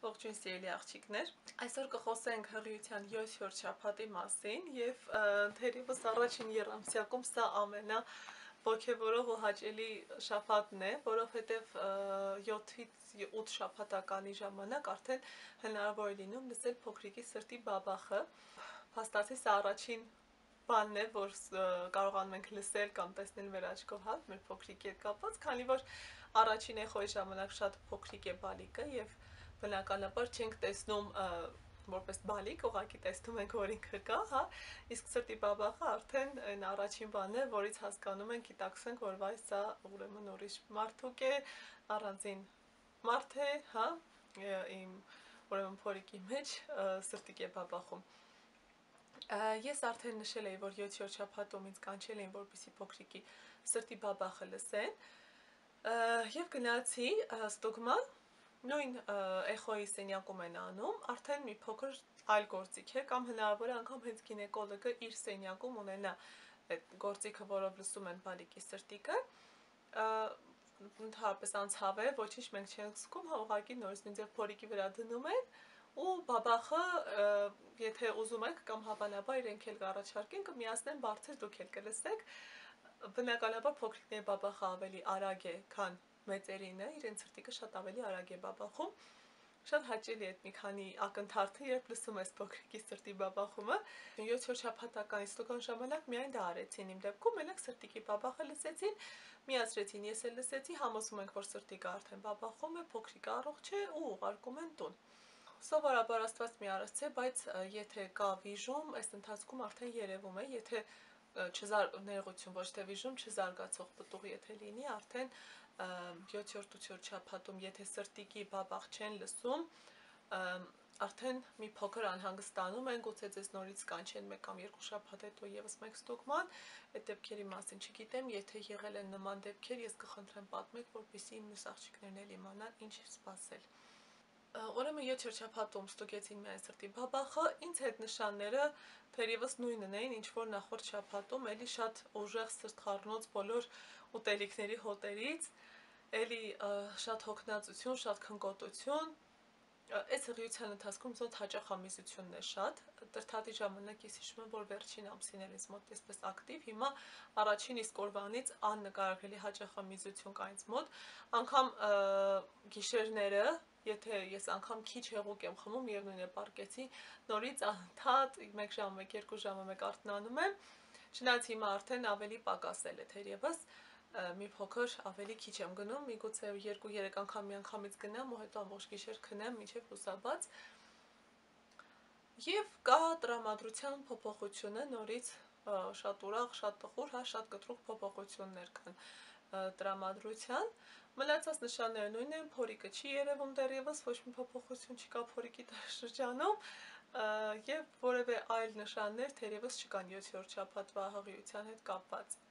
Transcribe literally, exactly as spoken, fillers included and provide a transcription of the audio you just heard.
Ողջույն սիրելի աղջիկներ, այսօր կխոսենք հղիության յոթերորդ շաբաթի մասին եւ թերևս առաջին եռամսյակում սա ամենա ոգևորող ու հաճելի շաբաթն է, որովհետեւ յոթից ութ շաբաթականի ժամանակ արդեն հնարավոր է լինում լսել փոքրիկի սրտի բաբախը։ Փաստացի սա առաջին բանն է, որ կարողանում ենք լսել կամ տեսնել մեր աչքով, հա, մեր փոքրիկի հետ կապված, քանի որ առաջին էխոյի ժամանակ շատ փոքրիկ է բալիկը եւ բնականաբար չենք տեսնում որպես բալիկ, ուղղակի տեսնում ենք, որ ինքը կա, հա, իսկ սրտի բաբախը արդեն այն առաջին բանն է, որից հասկանում ենք, գիտակցենք, որ վայ սա ուրեմն ուրիշ մարդուկ է, առանձին մարդ է, հա, իմ ուրեմն փորիկի մեջ սրտիկ է բաբախում։ Ես արդեն նշել էի, որ յոթերորդ շաբաթում ինձ կանչել էին, որպեսզի փոքրիկի սրտի բաբախը լսեն, եւ գնացի ստուգման, նույն էխոյի սենյակում են անում, արդեն մի փոքր այլ գործիք է, կամ հնարավոր է անգամ հենց գինեկոլոգը իր սենյակում ունենա այդ գործիքը, որով լսում են բալիկի սրտիկը, ընդհանրապես անցավ է, ոչինչ մենք չենք զգում, հա, ուղղակի նորից նույն ձև փորիկի վրա դնում են ու բաբախը, եթե ուզում եք կամ հավանաբար իրենք էլ կառաջարկեն, կմիացնեն բարձր, դուք էլ կլսեք, բնականաբար փոքրիկների բաբախը ավելի արագ է, քան մեծերինը, իրենց սրտիկը շատ ավելի արագ է բաբախում, շատ հաճելի է այդ մի քանի ակնթարթը, երբ լսում ես փոքրիկի սրտի բաբախումը, յոթերորդ շաբաթական ստուգման ժամանակ միայն դա արեցին իմ դեպքում, մենակ սրտիկի բաբախը լսեցին, միացրեցին, ես էլ լսեցի, համոզում ենք, որ սրտիկը արդեն բաբախում է, փոքրիկը առողջ է ու ուղարկում են տուն։ Սովորաբար Աստված մի արարած է, բայց եթե կա վիժում, այս ընթացքում արդեն երևում է, եթե ներողություն, ոչ թե վիժում, չզարգացող պտուղ եթե լինի, արդեն յոթերորդ ութերորդ շաբաթում, եթե սրտիկի բաբախ չեն լսում, արդեն մի փոքր անհանգստանում են, գուցե ձեզ նորից կանչեն մեկ կամ երկու շաբաթ հետո եւս մեկ ստուգման, այդ դեպքերի մասին չգիտեմ, եթե եղել են նման դեպքեր, ես կխնդրեմ պատմեք, որպեսզի իմ մյուս աղջիկներն էլ իմանան ինչ սպասել։ Ուրեմն յոթերորդ շաբաթում ստուգեցին միայն սրտի բաբախը, ինձ հետ նշանները թերևս նույնն էին, ինչ որ նախորդ շաբաթում, էլի շատ ուժեղ սրտխառնոց բոլոր ուտելիքների հոտերից, էլի շատ հոգնածություն, շատ քնկոտություն, այս հղիության ընթացքում զոտ հաճախամիզությունն է շատ, տրթատի ժամանակ ես հիշում եմ, որ վերջին ամսիներից մոտ այսպես ակտիվ, հիմա առաջին իսկ օրվանից աննկարագրելի հաճախամիզություն կա ինձ մոտ, անգամ գիշերները, եթե ես անգամ քիչ հեղուկ եմ խմում, միևնույն է պառկեցի, նորից անդադ մեկ ժամ, մեկ երկու ժամը մեկ արթնանում եմ, չնայած հիմա արդեն ավելի պակասել է թերևս, մի փոքր ավելի քիչ եմ գնում, միգուցե երկու երեք անգամ միանգամից գնամ ու հետո ամբողջ գիշեր քնեմ մինչև լուսաբաց։ Եվ կա տրամադրության փոփոխությունը նորից շատ ուրախ, շատ տխուր, հա, շատ կտրուկ փոփոխություններ կան տրամադրության, մնացած նշանները նույնն են, փորիկը չի երևում դեռևս, ոչ մի փոփոխություն չկա փորիկի շրջանում եւ որևէ այլ նշաններ թերևս չկան յոթերորդ շաբաթվա հղիության հետ կապված։